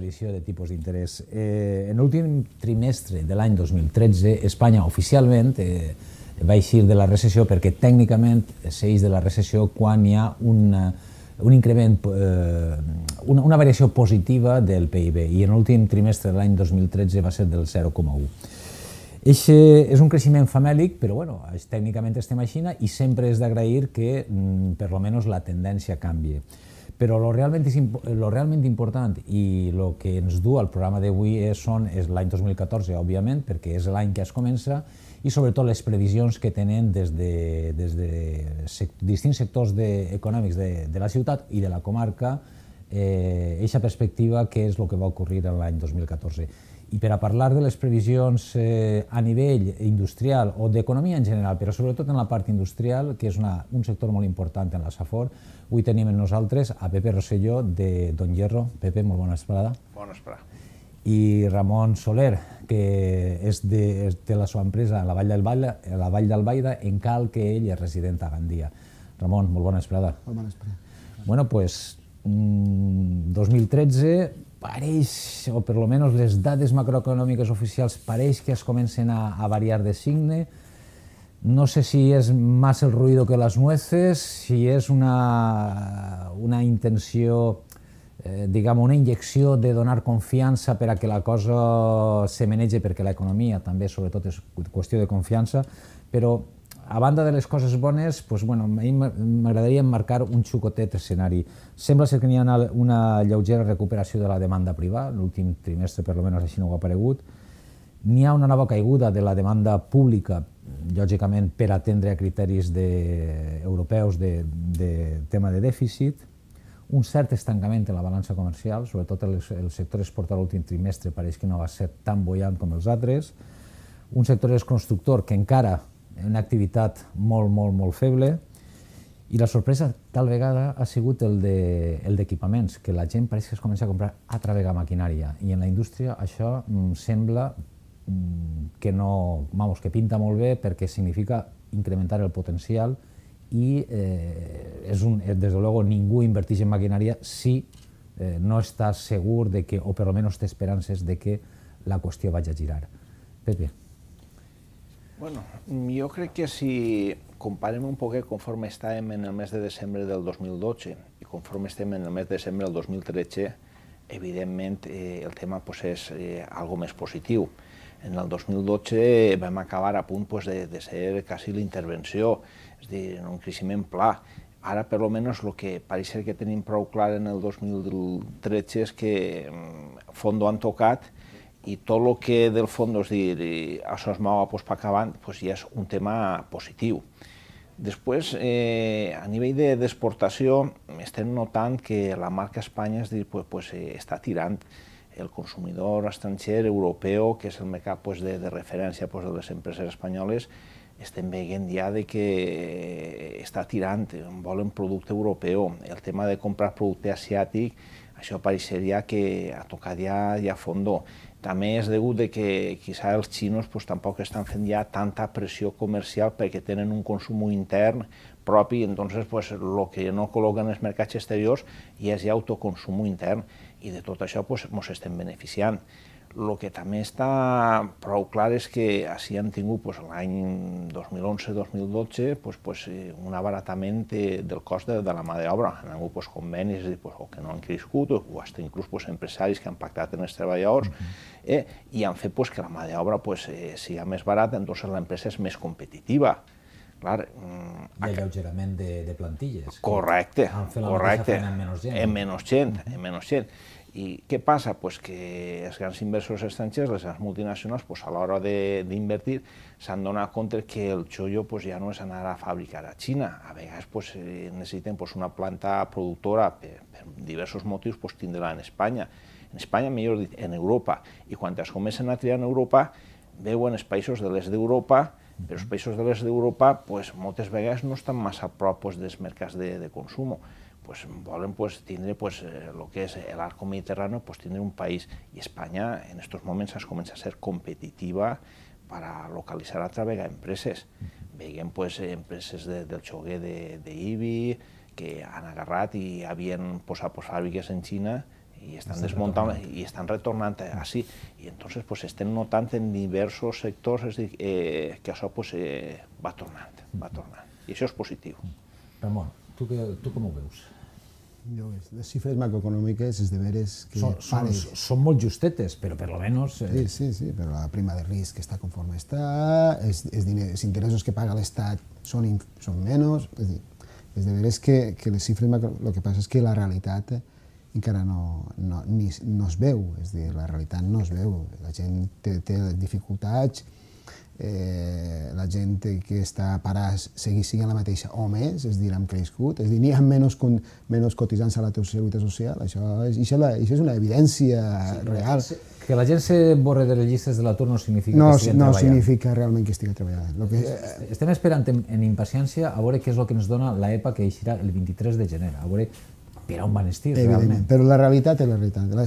aparició de tipus d'interès. En l'últim trimestre de l'any 2013, Espanya oficialment va eixir de la recessió perquè tècnicament s'eix de la recessió quan hi ha un increment, una variació positiva del PIB, i en l'últim trimestre de l'any 2013 va ser del 0,1. És un creixement famèlic, però bueno, tècnicament estem així i sempre és d'agrair que per almenys la tendència canvie. Però el realment important i el que ens du al programa d'avui és l'any 2014, òbviament, perquè és l'any que es comença, i sobretot les previsions que tenen des de distints sectors econòmics de la ciutat i de la comarca, aquesta perspectiva, què és el que va ocorrir l'any 2014. I per a parlar de les previsions a nivell industrial o d'economia en general, però sobretot en la part industrial, que és un sector molt important en la Safor, avui tenim amb nosaltres a Pepe Rosselló de Don Hierro. Pepe, molt bona vesprada. Bona vesprada. I Ramon Soler, que té la seva empresa a la Vall d'Albaida, en cal que ell és resident a Gandia. Ramon, molt bona vesprada. Molt bona vesprada. Bueno, doncs, 2013 pareix, o per almenys les dades macroeconòmiques oficials, pareix que es comencen a variar de signe. No sé si és más el ruido que las nueces, si és una intenció, diguem, una injecció de donar confiança per a que la cosa se manegi, perquè l'economia també, sobretot, és qüestió de confiança, però a banda de les coses bones, a mi m'agradaria emmarcar un xucotet escenari. Sembla ser que n'hi ha una lleugera recuperació de la demanda privada, l'últim trimestre per almenys així no ho ha aparegut. N'hi ha una nova caiguda de la demanda pública, lògicament per atendre a criteris europeus de tema de dèficit, un cert estancament en la balança comercial, sobretot el sector exportat l'últim trimestre pareix que no va ser tan bullant com els altres, un sector constructor que encara una activitat molt, molt, molt feble, i la sorpresa tal vegada ha sigut el d'equipaments, que la gent pareix que es comença a comprar altra vegada maquinària, i en la indústria això sembla que pinta molt bé perquè significa incrementar el potencial i des de luego ningú inverteix en maquinària si no està segur o per almenys té esperances de que la qüestió vagi a girar. Pepe. Bueno, jo crec que si comparem un poquet conforme estàvem en el mes de desembre del 2012 i conforme estem en el mes de desembre del 2013, evidentment el tema és algo més positiu. En el 2012 vam acabar a punt de ser quasi l'intervenció, és a dir, en un creixement pla. Ara, per almenys, el que pareix ser que tenim prou clar en el 2013 és que fondo han tocat i tot el que del fons, això es mou per acabant, ja és un tema positiu. Després, a nivell d'exportació, estem notant que la marca Espanya està tirant el consumidor estranger, europeu, que és el mercat de referència de les empreses espanyoles, estem veient ja que està tirant, volen producte europeu. El tema de comprar producte asiàtic, això pareixeria que ha tocat ja a fondo. També és degut que potser els xinos tampoc estan fent ja tanta pressió comercial perquè tenen un consum intern propi, entonces el que no col·loquen en els mercats exteriors ja és ja autoconsum intern, i de tot això ens estem beneficiant. El que també està prou clar és que així han tingut l'any 2011-2012 un abaratament del cost de la mà d'obra. Han hagut convenis que no han crescut, o fins inclús empresaris que han pactat amb els treballadors i han fet que la mà d'obra sigui més barata, doncs l'empresa és més competitiva. Hi ha alleugerament de plantilles. Correcte, correcte. En menys gent. I què passa? Que els grans inversors estrangers, les grans multinacionals, a l'hora d'invertir, s'han donat compte que el xollo ja no és anar a fabricar a Xina. A vegades necessiten una planta productora, per diversos motius, tindre-la en Espanya. En Espanya, millor dit, en Europa. I quan es comencen a triar en Europa, veuen els països de l'est d'Europa, però els països de l'est d'Europa moltes vegades no estan massa a prop dels mercats de consum. Volen tindre el que és l'arco mediterrani, tindre un país. I Espanya en aquests moments es comença a ser competitiva per a localitzar altra vegada empreses. Veiem empreses del xoguer d'Ibi que han agarrat i havien posat fàbriques en Xina y están desmontando y están retornant así. Y entonces pues estem notant en diversos sectors que això pues, va tornant. I això és positiu. Ramon, tu com ho veus? Les xifres macroeconòmiques és de veres que... Són molt justetes, però per almenys... Sí, però la prima de risc està conforme està, els interessos que paga l'Estat són menys, és de veres que les xifres macroeconòmiques... El que passa és que la realitat encara no es veu, és a dir, la realitat no es veu, la gent té dificultats, la gent que està parada sigui la mateixa o més, és a dir, han crescut, és a dir, n'hi ha menys cotitzants a la Seguretat Social, això és una evidència real. Que la gent se borre de les llistes de l'atur no significa que estigui treballant. No significa realment que estigui treballant. Estem esperant en impaciència a veure què és el que ens dona l'EPA que eixirà el 23 de gener, a veure per on van estir realment. Però la realitat és la realitat. La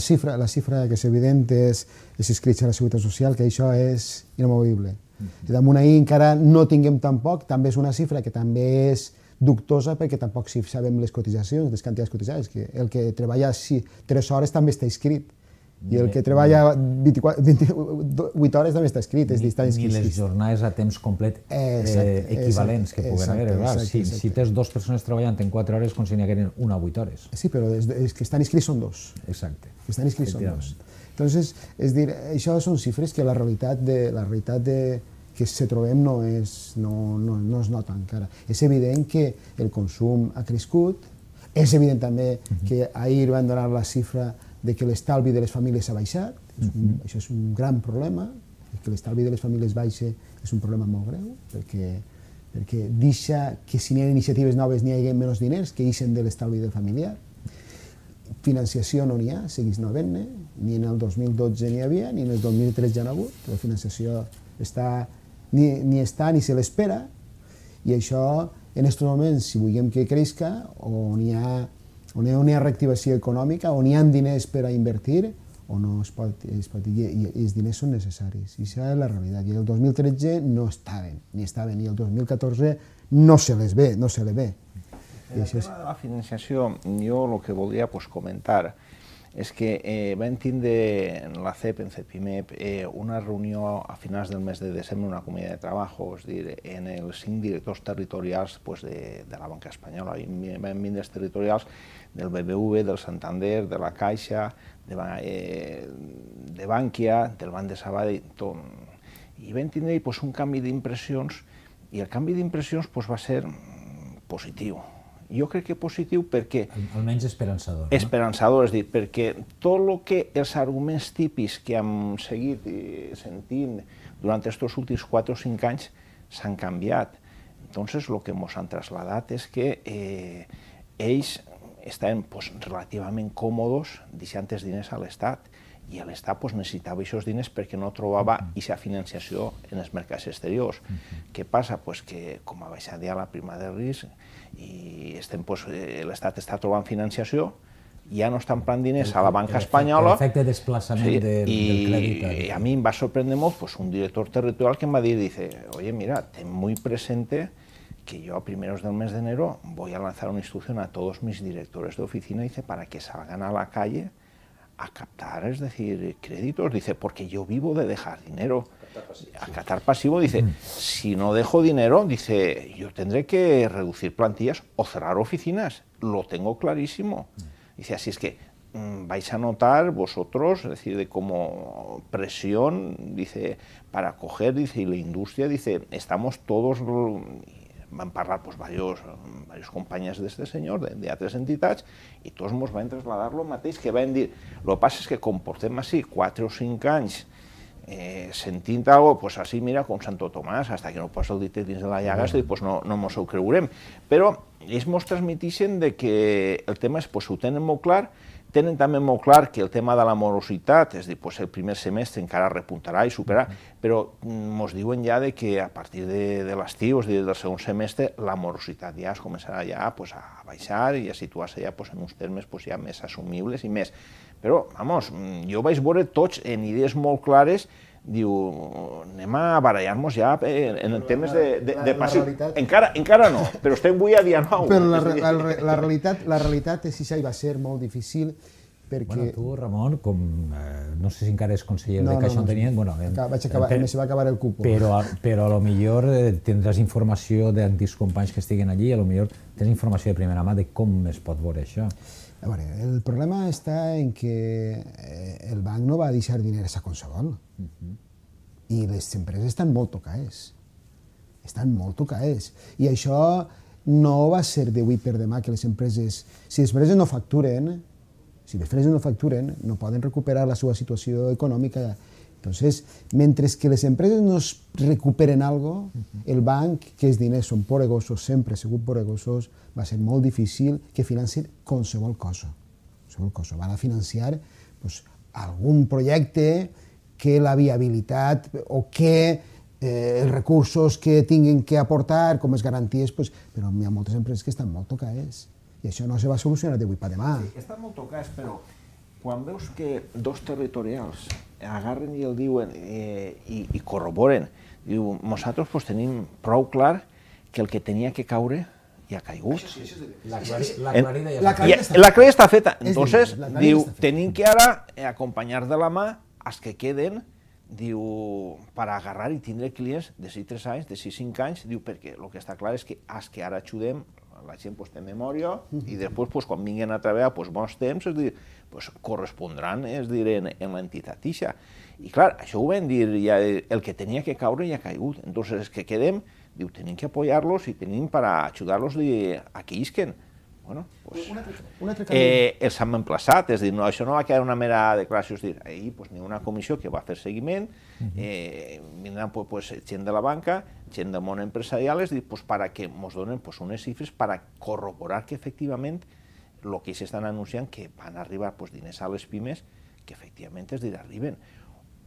xifra que és evident és inscrits a la Seguretat Social, que això és inamovible. Damunt ahir encara no tinguem tampoc, també és una xifra que també és dubtosa perquè tampoc si sabem les cotitzacions, les quantitats cotitzades, que el que treballa 3 hores també està inscrit i el que treballa 28 hores també està inscrit. Ni les jornades a temps complet equivalents que puguen haver. Si tens 2 persones treballant en 4 hores, com si n'hi hagueren una a 8 hores. Sí, però els que estan inscrits són 2. Exacte. Els que estan inscrits són 2. Entonces, és dir, això són xifres que la realitat que se trobem no es nota encara. És evident que el consum ha crescut, és evident també que ahir van donar la xifra de que l'estalvi de les famílies ha baixat, això és un gran problema, que l'estalvi de les famílies baixa és un problema molt greu, perquè deixa que si n'hi ha iniciatives noves n'hi hagi menys diners que ixen de l'estalvi del familiar. Financiació no n'hi ha, segueix no havent-ne, ni en el 2012 n'hi havia, ni en el 2013 ja n'ha hagut, la financiació ni està ni se l'espera, i això en aquests moments, si volem que creixca, on hi ha reactivació econòmica, on hi ha diners per a invertir, o no es pot dir, i els diners són necessaris, i això és la realitat. I el 2013 no estaven, i el 2014 no se les ve. En el tema de la financiació, jo el que voldria comentar és que vam tindre en la CEP, en CEPIMEP, una reunió a finals del mes de desembre, una comunitat de treball, és dir, en els 5 directors territorials de la banca espanyola. Vam vindre els territorials del BBV, del Santander, de la Caixa, de Bankia, del Banc de Sabadell, i vam tindre un canvi d'impressions, i el canvi d'impressions va ser positiu. Jo crec que positiu perquè... Almenys esperançador. Esperançador, és dir, perquè tot el que els arguments típics que hem seguit sentint durant aquests últims 4 o 5 anys s'han canviat. Entonces, el que ens han traslladat és que ells estaven relativament còmodes deixant els diners a l'Estat, i l'Estat necessitava aquests diners perquè no trobava aquesta financiació en els mercats exteriors. Què passa? Que com ha baixat ja la prima de risc i l'Estat està trobant financiació, ja no estan plant diners a la banca espanyola. L'efecte de desplaçament del crèdit. I a mi em va sorprendre molt un director territorial que em va dir, oye, mira, ten muy presente que yo a primeros del mes de enero voy a lanzar una instrucción a todos mis directores de oficina, para que salgan a la calle a captar, es decir, créditos, porque yo vivo de dejar dinero. A captar pasivo, si no dejo dinero, yo tendré que reducir plantillas o cerrar oficinas, lo tengo clarísimo. Así es que vais a notar vosotros, es decir, como presión, para coger, y la industria, estamos todos... Van parlar varios companys d'aquest senyor, d'altres entitats, i tots ens van traslladar el mateix, que van dir, el que passa és que com portem així 4 o 5 anys sentint alguna cosa, així, mira, com Santo Tomàs, fins que no posa el dit dins de la llaga, no ens ho creurem. Però ells ens transmeteixen que el tema és, ho tenen molt clar, tenen també molt clar que el tema de la morositat, és a dir, el primer semestre encara repuntarà i superarà, però ens diuen ja que a partir de l'estiu, és a dir, del segon semestre, la morositat ja es començarà ja a baixar i a situar-se ja en uns termes ja més assumibles i més. Però, vamos, jo vaig veure tots en idees molt clares, diu, anem a barallar-nos ja en temes de passiu. Encara no, però estem avui a dia 9. Però la realitat és que això va ser molt difícil perquè... Bueno, tu, Ramon, com no sé si encara és conseller de Caixa Ontenient, bueno, vaig acabar, se va acabar el cupo. Però a lo millor tindràs informació d'antics companys que estiguen allí, a lo millor tens informació de primera mà de com es pot veure això. A veure, el problema està en que el banc no va deixar diners a qualsevol. I les empreses estan molt tocades. Estan molt tocades. I això no va ser d'avui per demà que les empreses... Si les empreses no facturen, no poden recuperar la seva situació econòmica. Entonces, mentre que les empreses no recuperen algo, el banc, que els diners són poregosos, sempre ha sigut poregosos, va ser molt difícil que financi qualsevol cosa. Van a financiar algun projecte que la viabilitat o que els recursos que tinguin que aportar com les garanties, però hi ha moltes empreses que estan molt tocades. I això no se va solucionar d'avui per demà. Sí, estan molt tocats, però quan veus que dos territorials agarren i el diuen i corroboren, diu, nosaltres tenim prou clar que el que tenia que caure ja ha caigut. La aclarida està feta. Entonces, diu, tenim que ara acompanyar de la mà els que queden, diu, per agarrar i tindre clients de 6-3 anys, de 6-5 anys, diu, perquè el que està clar és que els que ara ajudem, la gent té memòria i després, quan vinguin a treballar bons temps, correspondran, en l'entitat ixa. I clar, això ho vam dir, el que tenia que caure ja ha caigut. Entonces, els que quedem, diu, tenim que apoyar-los i tenim per ajudar-los a que isquen. Bueno, els hem emplaçat, és dir, això no va quedar una mera declaració, és dir, ahir n'hi ha una comissió que va fer seguiment, vindran gent de la banca, gent del món empresarial, és dir, perquè ens donen unes xifres per corroborar que efectivament el que s'estan anunciant que van arribar diners a les pimes, que efectivament, és dir, arriben.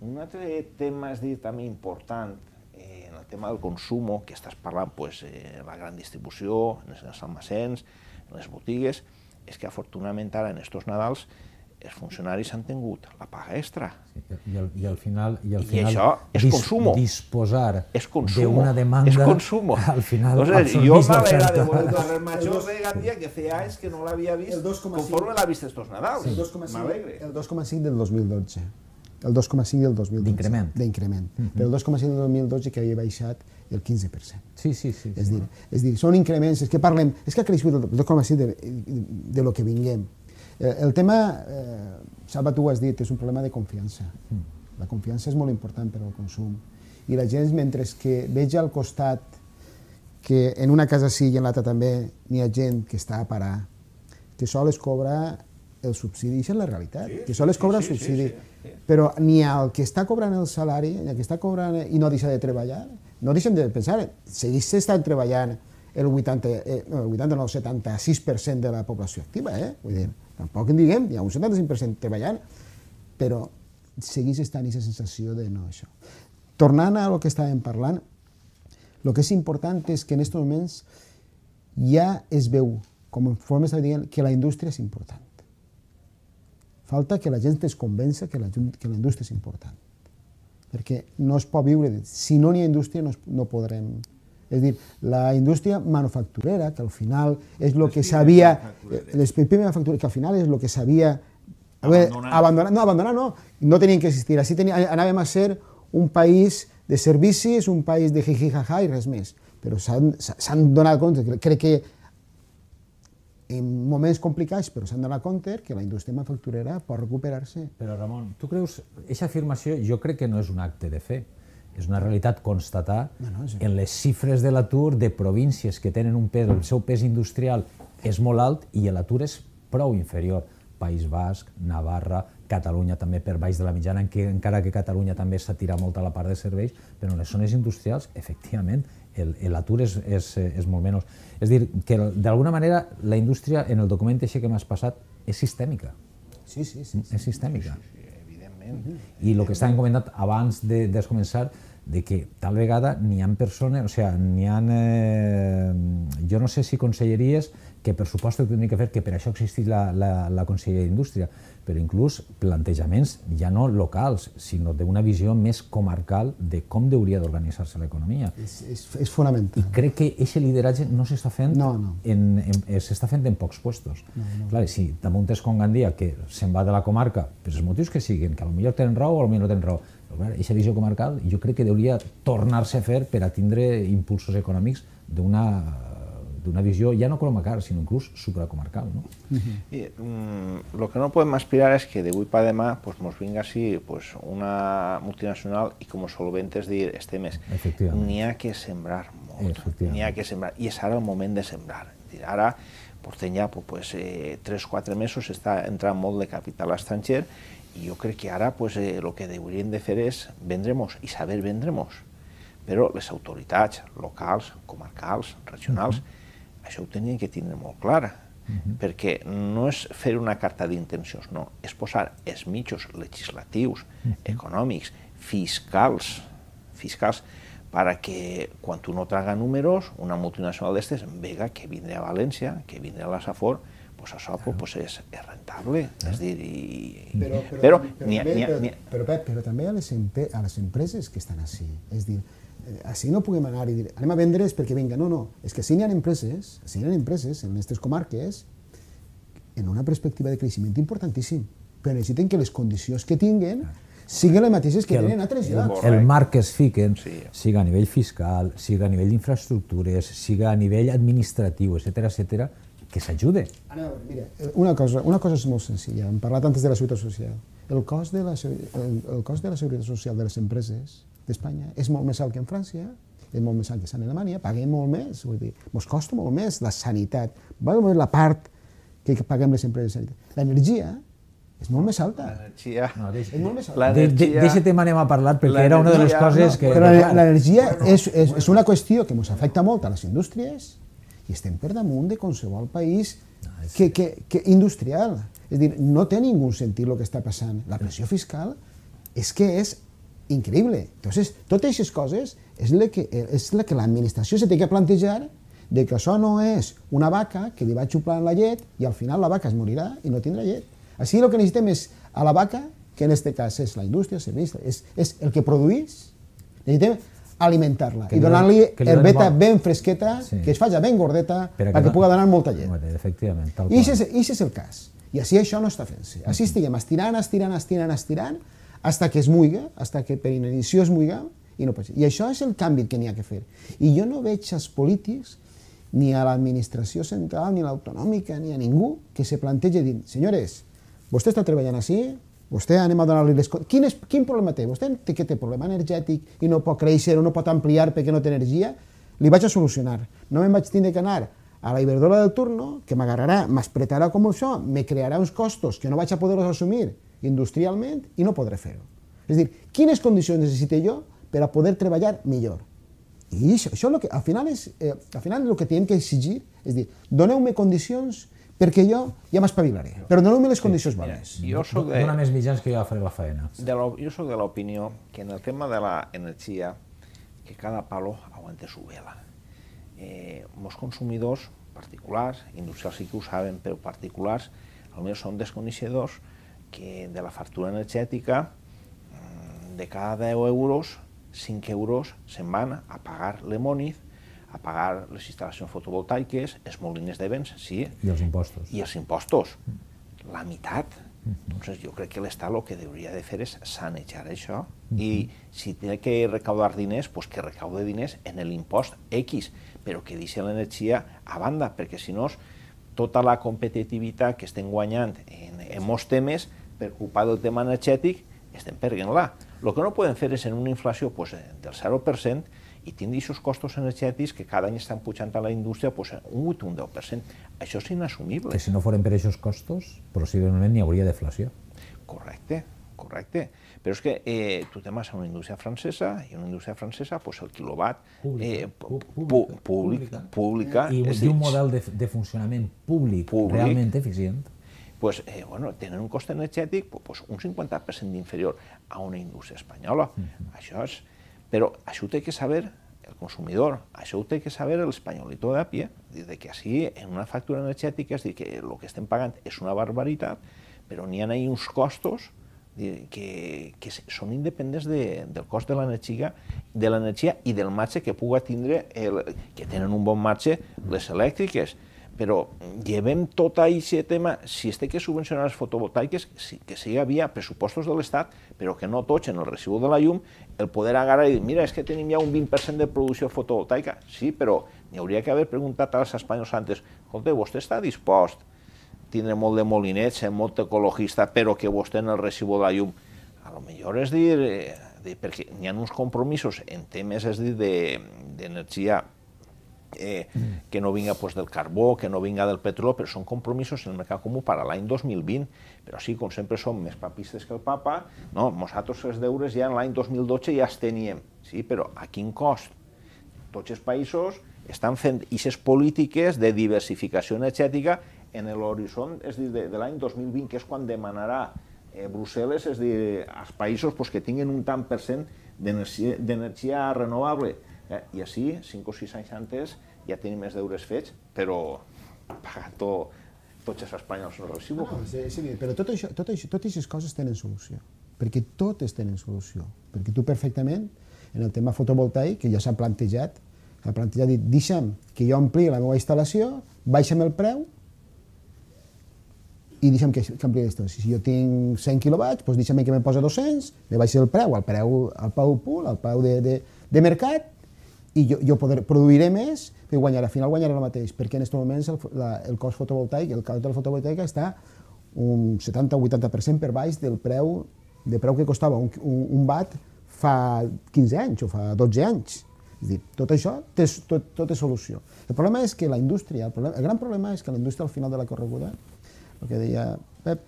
Un altre tema, és dir, també important, en el tema del consum, que estàs parlant la gran distribució, en els almacens, en les botigues, és que afortunadament ara en estos Nadals els funcionaris han tingut la paga extra. I al final això és consum. Disposar d'una demanda... És consum. Al final jo m'agrada de veure el carrer Major de Gandia, que feia anys que no l'havia vist, conforme l'ha vist estos Nadals. M'alegre. El 2,5 del 2012. El 2,5 del 2012. D'increment. Però el 2,5 del 2012 que havia baixat el 15%. Sí. És dir, són increments, és que parlem, és que ha crescut el 2,5 de lo que vinguem. El tema, Salva, tu ho has dit, és un problema de confiança. La confiança és molt important per al consum. I la gent, mentre que veig al costat que en una casa sí i en l'altra també n'hi ha gent que està a parar, que sols cobra el subsidi, això és la realitat, que sols cobra el subsidi, però ni el que està cobrant el salari, ni el que està cobrant i no deixa de treballar, no deixem de pensar, segueix estant treballant el 76% de la població activa, vull dir, tampoc en diguem, hi ha un 75% treballant, però segueix estant aquesta sensació de no això. Tornant a lo que estàvem parlant, el que és important és que en aquests moments ja es veu, com conforme estava dient, que la indústria és important. Falta que la gent es convença que la indústria és important. Perquè no es pot viure... Si no n'hi ha indústria, no podrem... És a dir, la indústria manufacturera, que al final és el que s'havia... Les pimes manufactureres, que al final és el que s'havia... Abandonar no tenien que existir. Així anàvem a ser un país de servicis, un país de jijijaja i res més. Però s'han donat compte, crec que en moments complicats, però s'han donat compte que la indústria manufacturera pot recuperar-se. Però, Ramon, tu creus... Aquesta afirmació jo crec que no és un acte de fe. És una realitat constatar en les xifres de l'atur de províncies que tenen un pes, el seu pes industrial és molt alt i l'atur és prou inferior. País Basc, Navarra, Catalunya també per baix de la mitjana, encara que Catalunya també s'ha tirat molt a la part de serveis, però en les zones industrials, efectivament, l'atur és molt menys. És a dir, que d'alguna manera la indústria, en el document que m'has passat, és sistèmica. Sí. És sistèmica. Evidentment. I el que estàvem comentant abans de començar, de que tal vegada n'hi ha persones, o sigui, n'hi ha... Jo no sé si conselleries que per supost ho hauria de fer, que per això existeix la Conselleria d'Indústria, però inclús plantejaments ja no locals, sinó d'una visió més comarcal de com hauria d'organitzar-se l'economia. És fonamental. I crec que aquest lideratge no s'està fent, s'està fent en pocs puestos. Clar, si damunt és com Gandia, que se'n va de la comarca, per els motius que siguin, que potser tenen raó o potser no tenen raó, però aquesta visió comarcal jo crec que hauria tornar-se a fer per a tindre impulsos econòmics d'una visió ja no comarcal, sinó inclús supracomarcal. Lo que no podem aspirar és que d'avui per demà ens vinga així una multinacional i com a solventes dir els temes. N'hi ha que sembrar molt, n'hi ha que sembrar, i és ara el moment de sembrar. Ara portem ja 3-4 mesos, està entrant molt de capital estranger i jo crec que ara el que hauríem de fer és vendre-nos i saber vendre-nos. Però les autoritats locals, comarcals, regionals, això ho tenien que tindre molt clar, perquè no és fer una carta d'intencions, no, és posar els mitjans legislatius, econòmics, fiscals, perquè quan no traga números, una multinacional d'estes vega que vindrà a València, que vindrà a la Safor, això és rentable, és dir... Però també a les empreses que estan així, és dir, així no puguem anar i dir, anem a vendre's perquè vinga, no, és que així hi ha empreses en les nostres comarques en una perspectiva de creixement importantíssim, però necessiten que les condicions que tinguen siguin les mateixes que tenen altres llocs. El marc que es fiquen, siga a nivell fiscal, siga a nivell d'infraestructures, siga a nivell administratiu, etcètera, que s'ajude. Mira, una cosa és molt senzilla, hem parlat antes de la Seguretat Social. El cost de la Seguretat Social de les empreses d'Espanya és molt més alt que en França, és molt més alt que en Alemanya, paguem molt més, vull dir, ens costa molt més la sanitat, la part que paguem les empreses de sanitat. L'energia és molt més alta. L'energia... D'aquest tema anem a parlar, perquè era una de les coses que... Però l'energia és una qüestió que ens afecta molt a les indústries i estem per damunt de qualsevol país industrial. És a dir, no té ningú sentit el que està passant. La pressió fiscal és que és increïble. Entonces, totes aquestes coses és la que l'administració se té que plantejar de que això no és una vaca que li va xuplant la llet i al final la vaca es morirà i no tindrà llet. Així el que necessitem és a la vaca, que en aquest cas és la indústria, és el que produís, necessitem alimentar-la i donar-li herbeta ben fresqueta, que es faci ben gordeta perquè pugui donar molta llet. Efectivament, tal qual. I aquest és el cas. I així això no està fent-se. Així estiguem estirant, hasta que es muiga, hasta que per inanició es muiga, i no pot ser. I això és el canvi que n'hi ha que fer. I jo no veig als polítics, ni a l'administració central, ni a l'autonòmica, ni a ningú, que se plantegi dir, senyores, vostè està treballant així, vostè anem a donar-li les coses. Quin problema té? Vostè que té problema energètic i no pot créixer o no pot ampliar perquè no té energia, li vaig a solucionar. No me'n vaig tindre que anar a la Iberdrola del turno, que m'agarrarà, m'espretarà com això, me crearà uns costos que no vaig a poder-los assumir industrialment i no podré fer-ho. És a dir, quines condicions necessito jo per a poder treballar millor? I això al final és el que hem que exigir, és dir, doneu-me condicions perquè jo ja m'espavilaré, però doneu-me les condicions bones. Dóna més mitjans que jo ja faré la feina. Jo soc de l'opinió que en el tema de l'energia, que cada palo aguante su vela. Els consumidors particulars, industrials sí que ho saben, però particulars, potser són desconeixedors que de la factura energètica, de cada 10 euros, 5 euros se'n van a pagar l'Emoniz, a pagar les instal·lacions fotovoltaiques, els molins de vents, sí. I els impostos. I els impostos. La meitat. Entonces, jo crec que l'Estat el que hauria de fer és sanejar això i si té que recaudar diners, pues que recaude diners en l'impost X, però que deixi l'energia a banda, perquè si no, tota la competitivitat que estem guanyant en molts temes, per culpa del tema energètic, estem perdent-la. El que no podem fer és en una inflació del 0% i tindre aquests costos energètics que cada any estan pujant a la indústria un 8 o un 10%. Això és inassumible. Que si no foren per aquests costos, possiblement n'hi hauria deflació. Correcte. Però és que tu te'n vas a una indústria francesa i una indústria francesa, el quilowatt pública... I un model de funcionament públic realment eficient. Tenen un cost energètic un 50% inferior a una indústria espanyola. Però això ho té que saber el consumidor. Això ho té que saber l'espanyolito de a pie, de que així, en una factura energètica, és dir, que el que estem pagant és una barbaritat, però n'hi ha uns costos que són independents del cost de l'energia i del marge que puga tindre, que tenen un bon marge les elèctriques. Però llevem tot aquest tema, si es té que subvencionar les fotovoltaiques, que sigui via pressupostos de l'Estat, però que no totxen el recibo de la llum, el poder agarrar i dir, mira, és que tenim ja un 20% de producció fotovoltaica. Sí, però n'hi hauria que haver preguntat als espanyols antes, escolta, vostè està dispost a tindre molt de molinets, ser molt ecologista, però que vostè en el recibo de la llum, a lo millor és dir, perquè n'hi ha uns compromisos en temes, és dir, d'energia que no vinga del carbó, que no vinga del petroli, però són compromisos en el mercat comú per a l'any 2020. Però sí, com sempre som més papistes que el papa, no, nosaltres els deures ja en l'any 2012 ja els teníem. Sí, però a quin cost? Tots els països estan fent aquestes polítiques de diversificació energètica en l'horitzó, és dir, de l'any 2020, que és quan demanarà Brussel·les, és dir, als països que tinguin un tant per cent d'energia renovable. I així, 5 o 6 anys antes, ja tenim els deures fets, però pagant tots els espanyols no recibo. Sí, però totes aquestes coses tenen solució, perquè totes tenen solució. Perquè tu perfectament, en el tema fotovoltaic, que ja s'ha plantejat, dit, deixa'm que jo ampli la meva instal·lació, baixa'm el preu i deixa'm que ampli la instal·lació. Si jo tinc 100 quilowatts, doncs deixa'm que me posa 200, me baixi el preu, al preu pool, al preu de mercat, i jo produiré més, però al final guanyaré el mateix, perquè en aquests moments el cost fotovoltaic, el cost de la fotovoltaica està un 70 o 80% per baix del preu que costava un watt fa 15 anys o fa 12 anys. És dir, tot això tot és solució. El problema és que la indústria, el gran problema és que la indústria al final de la correguda, el que deia Pep,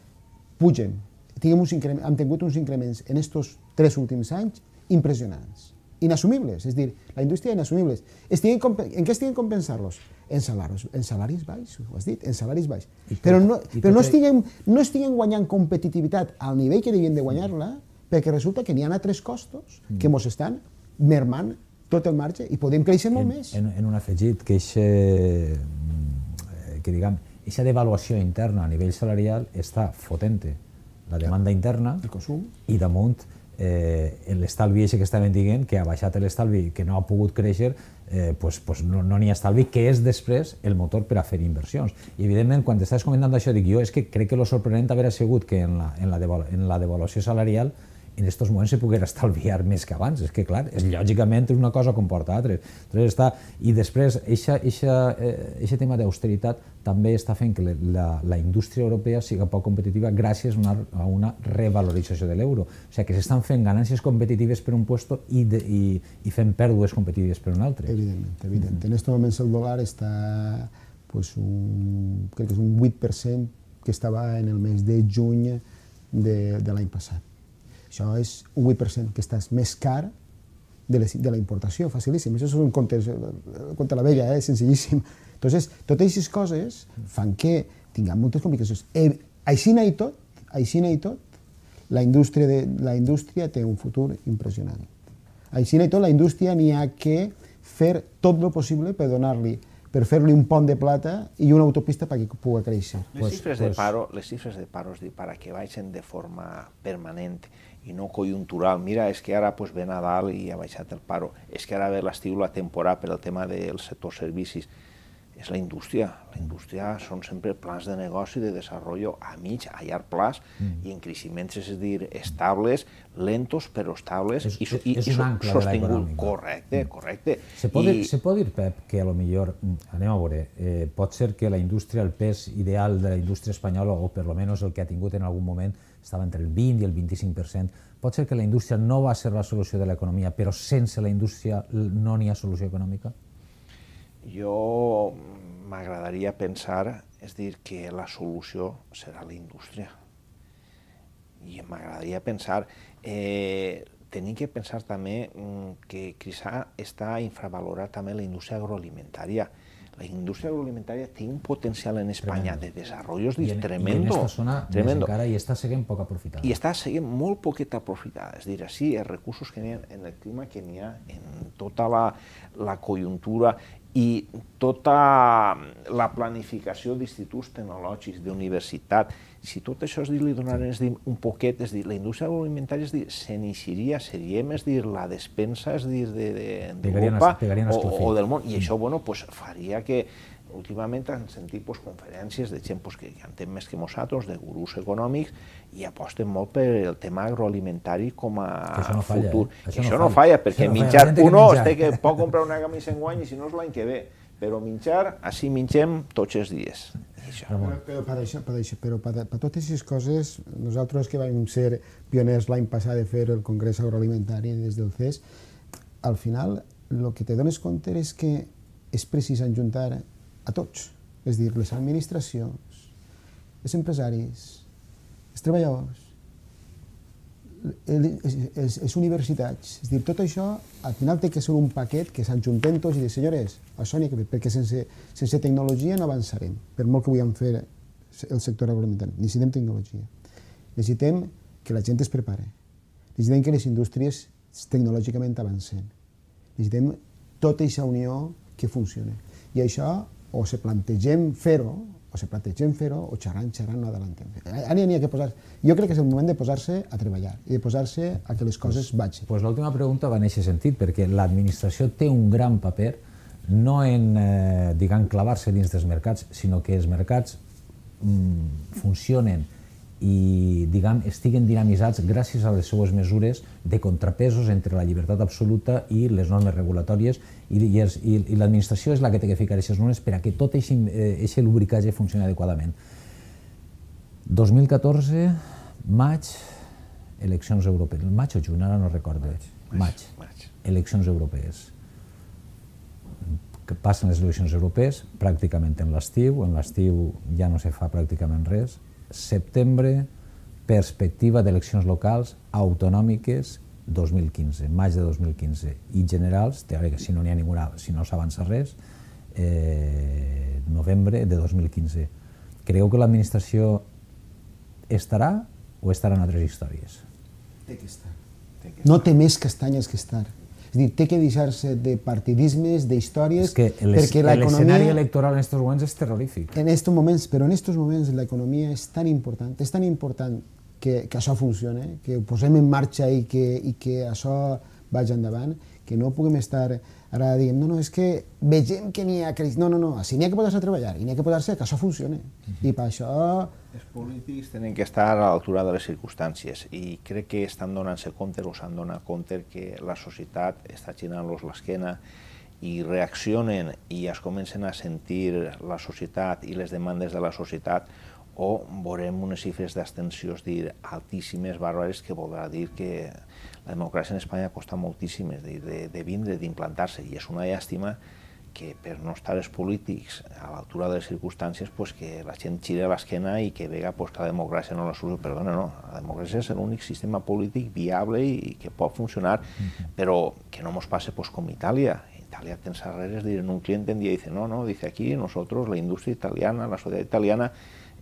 pugen. Han tingut uns increments en aquests 3 últims anys impressionants. Inassumibles, és dir, la indústria inassumibles. En què estiguen compensant-los? En salaris baixos, ho has dit, en salaris baixos. Però no estiguen guanyant competitivitat al nivell que devien de guanyar-la, perquè resulta que n'hi ha altres costos que ens estan mermant tot el marge i podem créixer molt més. En un afegit, que aquesta devaluació interna a nivell salarial està fotent la demanda interna i damunt l'estalvi que estaven dient, que ha baixat l'estalvi, que no ha pogut créixer, no n'hi ha estalvi, que és després el motor per a fer inversions. I evidentment, quan estàs comentant això, dic jo, és que crec que el sorprenent haver sigut que en la devaluació salarial en aquests moments se poguera estalviar més que abans. És que, clar, lògicament una cosa comporta altres. I després, aquest tema d'austeritat també està fent que la indústria europea sigui poc competitiva gràcies a una revalorització de l'euro. O sigui, que s'estan fent ganàncies competitives per un lloc i fent pèrdues competitives per un altre. Evidentment. En aquests moments el dòlar està, crec que és un 8% que estava en el mes de juny de l'any passat. Això és un 8% que estàs més car de la importació, facilíssim. Això és un conte a la vella, senzillíssim. Entonces, totes aquestes coses fan que tinguem moltes complicacions. Així i tot, la indústria té un futur impressionant. Així i tot, la indústria n'hi ha que fer tot el possible per fer-li un pont de plata i una autopista perquè pugui créixer. Les xifres de paro, para que baixen de forma permanent i no conjuntural. Mira, és que ara ve Nadal i ha baixat el paro. És que ara ve l'estiu, la temporada per el tema del sector servicis. És la indústria. La indústria són sempre plans de negoci, de desenvolupament a mig, a llarg plaç i en creixements, és a dir, estables, lentos però estables i sostinguts. Correcte. Se pot dir, Pep, que potser, anem a veure, pot ser que la indústria, el pes ideal de la indústria espanyola, o per almenys el que ha tingut en algun moment, estava entre el 20 i el 25%. Pot ser que la indústria no va ser la solució de l'economia, però sense la indústria no n'hi ha solució econòmica? Jo m'agradaria pensar, és dir, que la solució serà la indústria. I m'agradaria pensar, tenim que pensar també que quizà està infravalorat també la indústria agroalimentària. la industria agroalimentària té un potencial en Espanya de desenvolupament tremendo. I en aquesta zona més encara i està seguint poc aprofitada. I està seguint molt poqueta aprofitada. És a dir, així els recursos que n'hi ha en el clima que n'hi ha, en tota la conjuntura i tota la planificació d'instituts tecnològics, d'universitat, si tot això li donaren un poquet, és dir, la indústria agroalimentària s'iniciaria, seria més dir, la despensa d'Europa o del món, i això faria que últimament han sentit conferències de gent que entén més que nosaltres, de gurús econòmics, i aposten molt per el tema agroalimentari com a futur. Això no falla, perquè menjar uno que pot comprar una camisa enguany i si no és l'any que ve, però menjar, així mengem tots els dies. Però per totes aquestes coses, nosaltres que vam ser pioners l'any passat de fer el Congrés Agroalimentari des del CES, al final el que te dones compte és que és precís ajuntar a tots, és a dir, les administracions, els empresaris, els treballadors, les universitats, és a dir, tot això al final té que ser un paquet que s'ajunten tots i dir, senyores, això n'hi ha que fer, perquè sense tecnologia no avançarem, per molt que vulguem fer el sector agroalimentari. Necessitem tecnologia, necessitem que la gent es prepare, necessitem que les indústries tecnològicament avancen, necessitem tota aquesta unió que funcioni. I això o se plantegem fer-ho, o xerrant no adelantem. Ara n'hi ha que posar... Jo crec que és el moment de posar-se a treballar i de posar-se a que les coses vagin. Doncs l'última pregunta va en aquest sentit, perquè l'administració té un gran paper no en, diguem, clavar-se dins dels mercats, sinó que els mercats funcionen i, diguem, estiguen dinamitzats gràcies a les seues mesures de contrapesos entre la llibertat absoluta i les normes regulatòries, i l'administració és la que té que ficar aquestes normes per a que tot aquest lubricatge funcioni adequadament. 2014, maig, eleccions europees. Maig o juny, ara no recordo. Maig. Eleccions europees. Passen les eleccions europees pràcticament en l'estiu ja no se fa pràcticament res. Setembre, perspectiva d'eleccions locals autonòmiques 2015, maig de 2015, i generals, teòricament, si no n'hi ha ninguna, si no s'avança res, novembre de 2015. Creieu que l'administració estarà o estaran altres històries? Té que estar. No té més castanyes que estar. És a dir, té que deixar-se de partidismes, d'històries, perquè l'escenari electoral en aquests moments és terrorífic. Però en aquests moments l'economia és tan important que això funcioni, que ho posem en marxa i que això vagi endavant, que no puguem estar ara dient, no, és que vegem que n'hi ha crisi. No, així n'hi ha que posar-se a treballar i n'hi ha que posar-se que això funcioni. I per això... Els polítics tenen que estar a l'altura de les circumstàncies i crec que estan donant-se compte o s'han donat compte que la societat està girant-los l'esquena i reaccionen i es comencen a sentir la societat i les demandes de la societat, o veurem unes xifres d'abstenció altíssimes, bàrbares, que voldrà dir que la democràcia en Espanya costa moltíssim de vindre, d'implantar-se, i és una llàstima que per no estar els polítics a l'altura de les circumstàncies que la gent giri l'esquena i que vega que la democràcia no la solució. Perdona, no, la democràcia és l'únic sistema polític viable i que pot funcionar, però que no ens passe com Itàlia. Italia té arreres, en un cliente un día dice, no, dice aquí nosotros, la industria italiana, la sociedad italiana,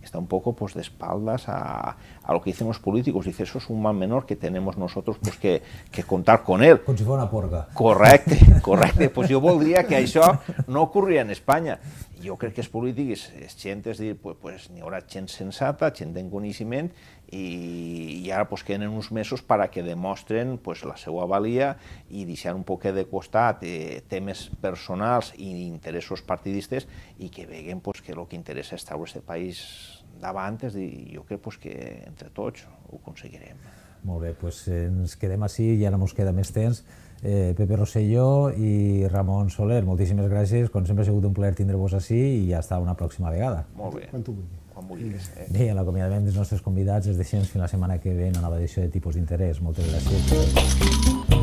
está un poco de espaldas a lo que dicen los políticos. Dice, eso es un mal menor que tenemos nosotros que contar con él. Com si fos una porca. Correcte. Pues jo voldria que això no ocorria en Espanya. Jo crec que els polítics, gent, és dir, n'hi haurà gent sensata, gent en coneixement, i ara queden uns mesos perquè demostren la seva valia i deixar un poc de costat temes personals i interessos partidistes i que veguen que el que interessa és treure aquest país davant, i jo crec que entre tots ho aconseguirem. Molt bé, doncs ens quedem així i ara ens queda més temps. Pepe Rosselló i Ramon Soler, moltíssimes gràcies, com sempre ha sigut un plaer tindre-vos així i hasta una pròxima vegada. Molt bé. Quan vulguis. Bé, l'acomiadament dels nostres convidats és de fins la setmana que ve en una nova edició de Tipus d'Interès. Moltes gràcies.